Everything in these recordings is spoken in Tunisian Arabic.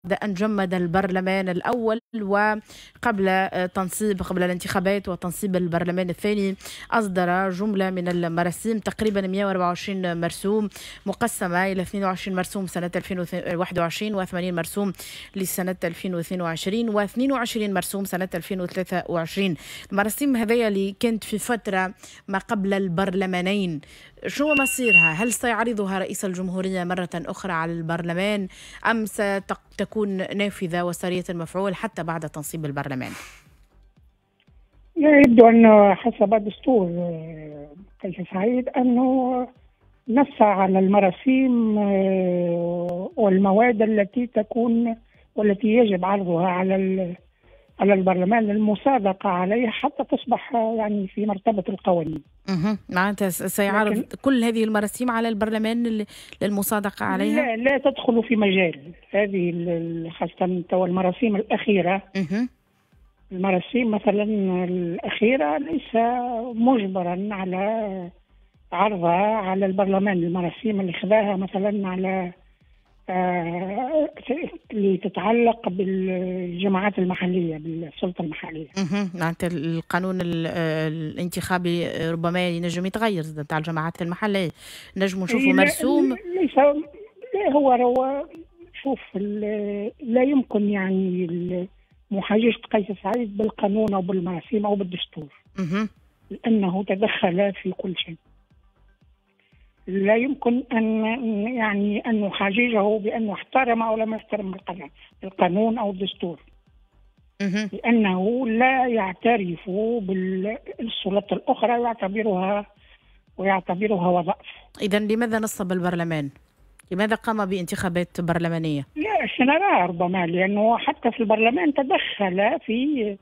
أن جمد البرلمان الأول، وقبل تنصيب قبل الانتخابات وتنصيب البرلمان الثاني أصدر جملة من المراسيم، تقريبا 124 مرسوم مقسمة إلى 22 مرسوم سنة 2021 و80 مرسوم لسنة 2022 و22 مرسوم سنة 2023. المراسيم هذيا اللي كانت في فترة ما قبل البرلمانين، شو مصيرها؟ هل سيعرضها رئيس الجمهورية مرة أخرى على البرلمان أم ستكون نافذة وسارية المفعول حتى بعد تنصيب البرلمان؟ يبدو أنه حسب دستور قيس سعيد أنه نص على المراسيم والمواد التي تكون والتي يجب عرضها على البرلمان للمصادقة عليها حتى تصبح يعني في مرتبة القوانين. معناتها سيعرض كل هذه المراسيم على البرلمان للمصادقة عليها؟ لا تدخل في مجال هذه، خاصة المراسيم الأخيرة. المراسيم مثلا الأخيرة ليس مجبرا على عرضها على البرلمان. المراسيم اللي خذاها مثلا على اللي تتعلق بالجماعات المحلية، بالسلطة المحلية. معناتها القانون الانتخابي ربما ينجم يتغير تاع الجماعات المحلية، نجم نشوفوا مرسوم. ليس، لا، هو شوف، لا يمكن يعني محاججة قيس سعيد بالقانون أو بالمراسيم أو بالدستور، لأنه تدخل في كل شيء. لا يمكن أن يعني أن نحاججه بأنه احترم أو لم يحترم القانون أو الدستور، لأنه لا يعترف بالسلطة الأخرى ويعتبرها وظائف. إذا لماذا نصب البرلمان؟ لماذا قام بانتخابات برلمانية؟ لا سنرى ربما، لأنه حتى في البرلمان تدخل في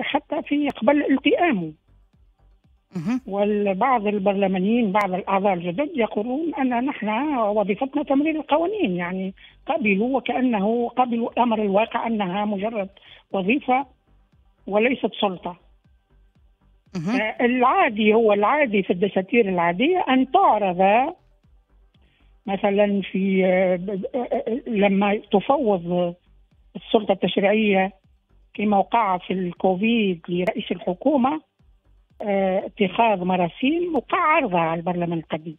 حتى في قبل التئامه. والبعض البرلمانيين، بعض الأعضاء الجدد يقولون أن نحن وظيفتنا تمرير القوانين، يعني قبلوا وكأنه قبلوا أمر الواقع أنها مجرد وظيفة وليست سلطة. العادي هو العادي في الدساتير العادية أن تعرض مثلا في لما تفوض السلطة التشريعية كما وقع في الكوفيد لرئيس الحكومة اتخاذ مراسيم وقع عرضها على البرلمان القديم،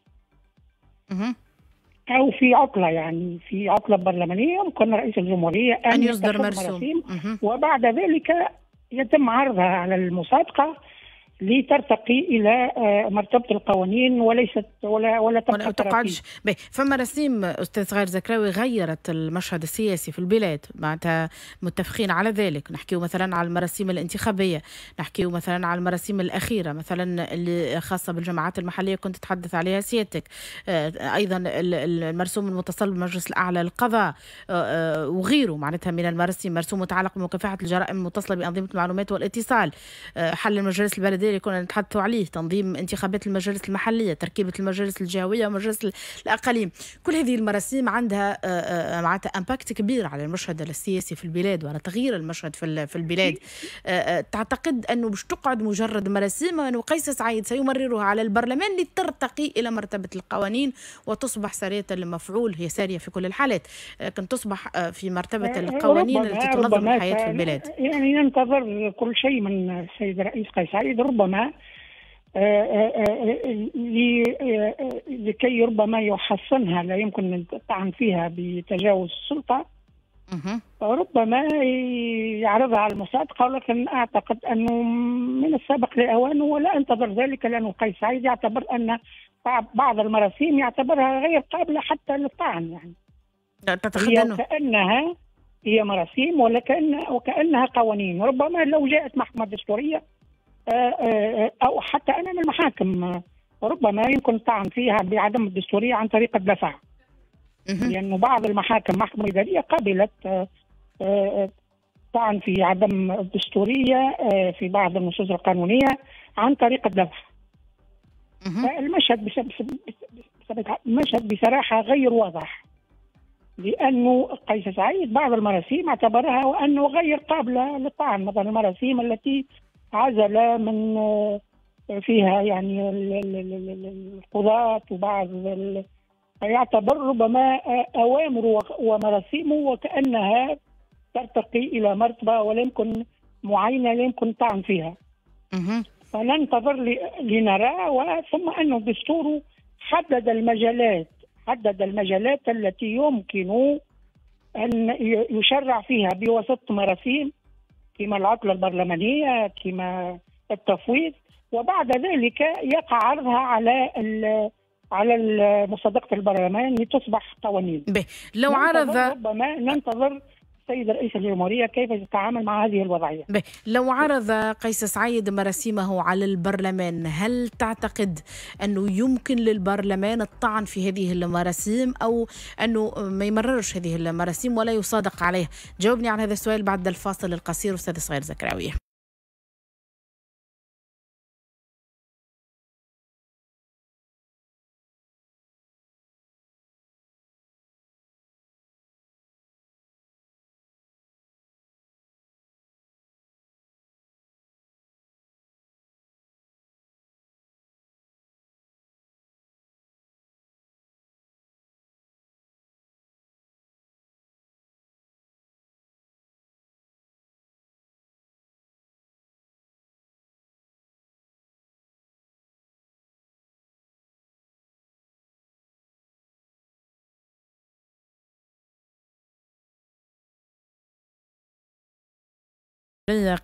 أو في عطلة، يعني في عطلة برلمانية يمكن رئيس الجمهورية أن يصدر مراسيم، وبعد ذلك يتم عرضها على المصادقة لترتقي الى مرتبه القوانين وليست ولا تبقى تقعدش. فما رسيم استاذ صغير زكراوي غيرت المشهد السياسي في البلاد، معناتها متفقين على ذلك. نحكيو مثلا على المراسيم الانتخابية، نحكيو مثلا على المراسيم الاخيرة مثلا اللي خاصة بالجماعات المحلية كنت تتحدث عليها سيادتك، ايضا المرسوم المتصل بالمجلس الاعلى للقضاء وغيره، معناتها من المراسيم، مرسوم متعلق بمكافحة الجرائم المتصلة بانظمه المعلومات والاتصال، حل المجالس البلدية اللي كنا نتحدثوا عليه، تنظيم انتخابات المجالس المحلية، تركيبة المجالس الجهوية ومجالس الأقاليم. كل هذه المراسيم عندها معناتها impact كبير على المشهد السياسي في البلاد وعلى تغيير المشهد في البلاد. تعتقد أنه باش تقعد مجرد مراسيم، أنه قيس سعيد سيمررها على البرلمان لترتقي إلى مرتبة القوانين وتصبح سارية المفعول؟ هي سارية في كل الحالات، لكن تصبح في مرتبة القوانين التي تنظم الحياة في البلاد. يعني ننتظر كل شيء من السيد الرئيس قيس سعيد، ربما لكي ربما يحصنها، لا يمكن الطعن فيها بتجاوز السلطة، ربما يعرضها على المصادقة، ولكن أعتقد أنه من السابق لأوانه ولا أنتظر ذلك، لأنه قيس سعيد يعتبر أن بعض المراسيم يعتبرها غير قابلة حتى للطعن. يعني تعتقد كأنها هي مراسيم وكأنها قوانين. ربما لو جاءت محكمة دستورية أو حتى أمام المحاكم ربما يمكن الطعن فيها بعدم الدستورية عن طريق الدفع، لأنه بعض المحاكم، محكمة إدارية قبلت طعن في عدم الدستورية في بعض النصوص القانونية عن طريق الدفع. فالمشهد المشهد بصراحة غير واضح، لأنه قيس سعيد بعض المراسيم اعتبرها وأنه غير قابلة للطعن، مثلا المراسيم التي عزل من فيها يعني القضاة وبعض يعتبر ربما أوامره ومراسيمه وكأنها ترتقي إلى مرتبة ولا يمكن معينة لا يمكن الطعن فيها. فننتظر لنرى. ثم أنه الدستور حدد المجالات التي يمكن أن يشرع فيها بواسطة مراسيم كما العطلة البرلمانية كما التفويض، وبعد ذلك يقع عرضها على مصادقة البرلمان لتصبح قوانين. لو عرض ربما ننتظر السيد رئيس الجمهورية كيف يتعامل مع هذه الوضعية. لو عرض قيس سعيد مراسيمه على البرلمان، هل تعتقد أنه يمكن للبرلمان الطعن في هذه المراسيم أو أنه ما يمررش هذه المراسيم ولا يصادق عليها؟ جاوبني على هذا السؤال بعد الفاصل القصير أستاذ صغير زكراوي.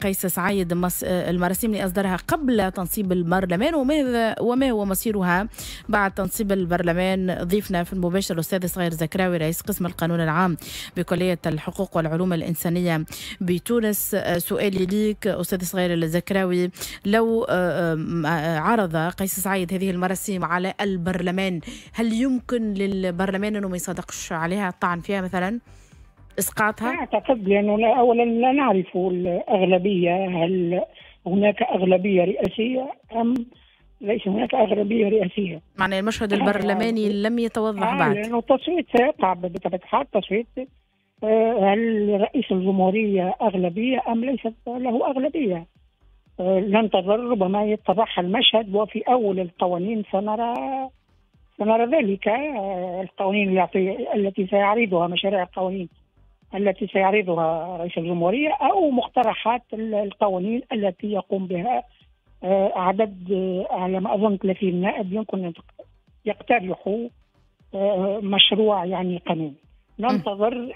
قيس سعيد المراسيم اللي أصدرها قبل تنصيب البرلمان وما هو مصيرها بعد تنصيب البرلمان. ضيفنا في المباشر الأستاذ صغير زكراوي رئيس قسم القانون العام بكلية الحقوق والعلوم الإنسانية بتونس. سؤالي ليك أستاذ صغير الزكراوي، لو عرض قيس سعيد هذه المراسيم على البرلمان، هل يمكن للبرلمان أنه ما يصادقش عليها، الطعن فيها مثلا، اسقاطها؟ اعتقد لانه اولا لا نعرف الاغلبية، هل هناك اغلبية رئاسيه ام ليس هناك اغلبية رئاسيه؟ معنى المشهد البرلماني لم يتوضح بعد. لانه التصويت سيقع بطبيعة الحال، التصويت هل رئيس الجمهورية اغلبية ام ليست له اغلبية؟ ننتظر ربما يتضح المشهد، وفي اول القوانين سنرى ذلك. القوانين التي سيعرضها، مشاريع القوانين التي سيعرضها رئيس الجمهورية أو مقترحات القوانين التي يقوم بها عدد على ما أظن 30 نائب يمكن أن يقترحوا مشروع يعني قانون. ننتظر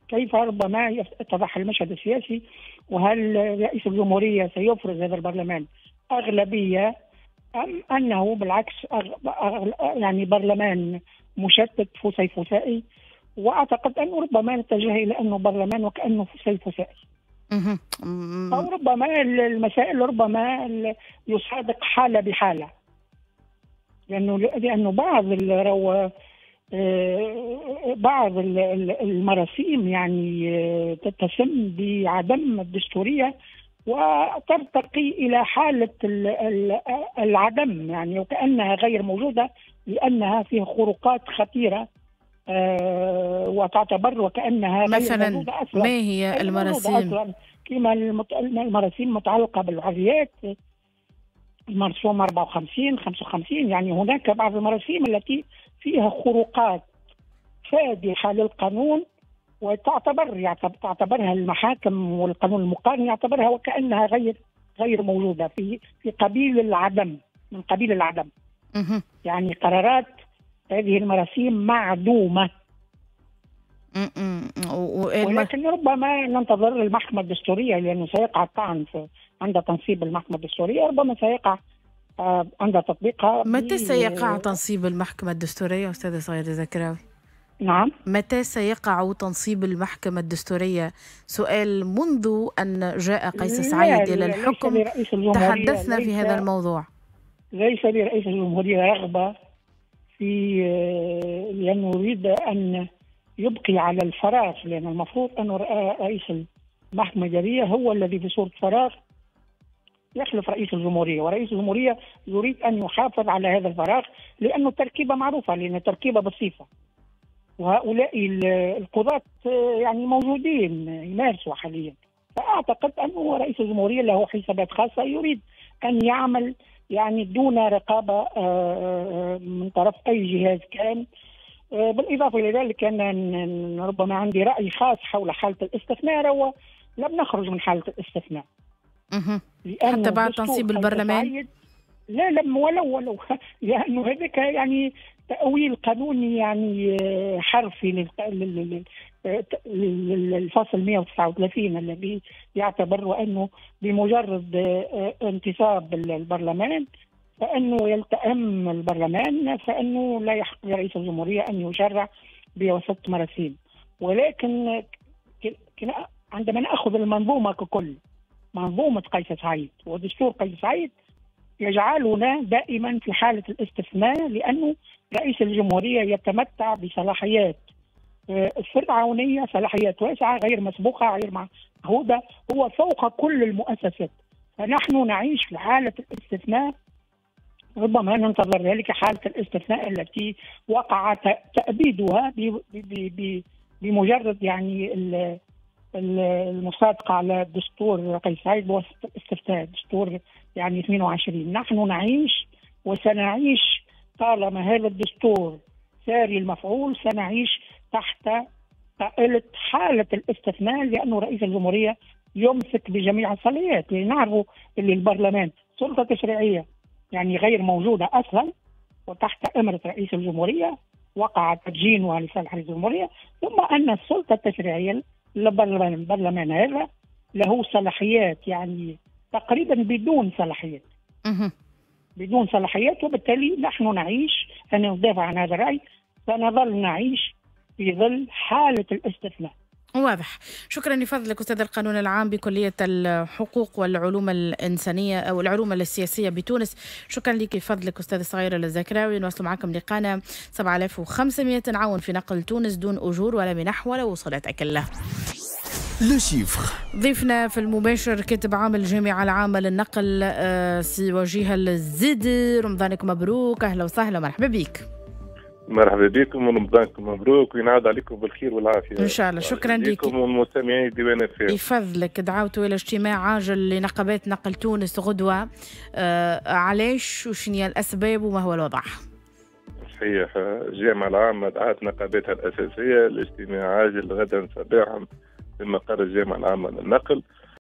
كيف ربما يتضح المشهد السياسي، وهل رئيس الجمهورية سيفرز هذا البرلمان أغلبية أم أنه بالعكس يعني برلمان مشتت فسيفسائي. واعتقد انه ربما نتجه الى انه برلمان وكانه فسيفسائي. او ربما المسائل ربما يصادق حاله بحاله، لانه بعض المراسيم يعني تتسم بعدم الدستورية وترتقي الى حاله العدم، يعني وكانها غير موجودة لانها فيها خروقات خطيرة وتعتبر وكأنها مثلا. ما هي المراسيم؟ كما المراسيم المتعلقة بالحريات، المرسوم 54 55، يعني هناك بعض المراسيم التي فيها خروقات فادحة للقانون وتعتبر تعتبرها المحاكم والقانون المقارن يعتبرها وكأنها غير موجودة في قبيل العدم، من قبيل العدم. يعني قرارات هذه المراسيم معدومة. ولكن ربما ننتظر المحكمة الدستورية، لأنه سيقع الطعن عند تنصيب المحكمة الدستورية، ربما سيقع عند تطبيقها. متى سيقع تنصيب المحكمة الدستورية أستاذة صغير زكراوي؟ نعم، متى سيقع تنصيب المحكمة الدستورية؟ سؤال منذ أن جاء قيس سعيد إلى الحكم تحدثنا في هذا الموضوع. ليس لرئيس الجمهورية رغبة في، لأنه يريد أن يبقي على الفراغ، لأن المفروض أن رئيس المحكمة الإدارية هو الذي في صورة فراغ يخلف رئيس الجمهورية، ورئيس الجمهورية يريد أن يحافظ على هذا الفراغ لأنه التركيبة معروفة، لأن التركيبة بسيطة، وهؤلاء القضاة يعني موجودين يمارسوا حاليا. فأعتقد أنه رئيس الجمهورية له حسابات خاصة، يريد أن يعمل يعني دون رقابة من طرف أي جهاز كان، بالإضافة إلى ذلك أن ربما عندي رأي خاص حول حالة الاستثناء، هو لم نخرج من حالة الاستثناء حتى بعد تنصيب البرلمان. لا لم ولو لأنه هذاك يعني تأويل قانوني يعني حرفي للفصل 139 الذي يعتبر أنه بمجرد انتصاب البرلمان فإنه يلتئم البرلمان، فإنه لا يحق لرئيس الجمهورية أن يشرع بواسطة مراسيم. ولكن عندما نأخذ المنظومة ككل، منظومة قيس سعيد ودستور قيس سعيد يجعلنا دائما في حالة الاستثناء، لأنه رئيس الجمهورية يتمتع بصلاحيات فرعونية، صلاحيات واسعة غير مسبوقة غير معهودة، هو فوق كل المؤسسات. فنحن نعيش في حالة الاستثناء، ربما ننتظر ذلك حالة الاستثناء التي وقع تأبيدها بمجرد يعني المصادقة على دستور قيس سعيد بواسطة الاستفتاء، دستور يعني 22. نحن نعيش وسنعيش طالما هذا الدستور ساري المفعول، سنعيش تحت طائلة حالة الاستثناء، لأنه رئيس الجمهورية يمسك بجميع الصلاحيات. لنعرف اللي البرلمان سلطة تشريعية يعني غير موجودة أصلا، وتحت أمرة رئيس الجمهورية وقع تدجينها لصالح رئيس الجمهورية، ثم أن السلطة التشريعية للبرلمان هذا له صلاحيات يعني تقريبا بدون صلاحيات، بدون صلاحيات. وبالتالي نحن نعيش، أنا ندافع عن هذا الرأي، سنظل نعيش في ظل حالة الاستثناء. واضح. شكرا لفضلك أستاذ القانون العام بكلية الحقوق والعلوم الإنسانية أو العلوم السياسية بتونس. شكرا لك لفضلك أستاذ صغير الزكراوي. نواصل معكم لقانا 7500 عون في نقل تونس دون أجور ولا منح ولا وصلات أكلة. le chiffre. ضيفنا في المباشر كاتب عام الجامعة العامة للنقل سي وجيه الزيدي. رمضانك مبروك، أهلا وسهلا ومرحبا بك. مرحبا بكم ورمضانكم مبروك وينعاد عليكم بالخير والعافية ان شاء الله. شكرا لكم والمستمعين ديوان اف. يفضلك. دعوتوا الى اجتماع عاجل لنقابات نقل تونس غدوه، علاش وشنو هي الاسباب وما هو الوضع؟ صحيح، الجامعة العامة دعت نقاباتها الاساسية لاجتماع عاجل غدا صباحا في مقر الجامعة العامة للنقل.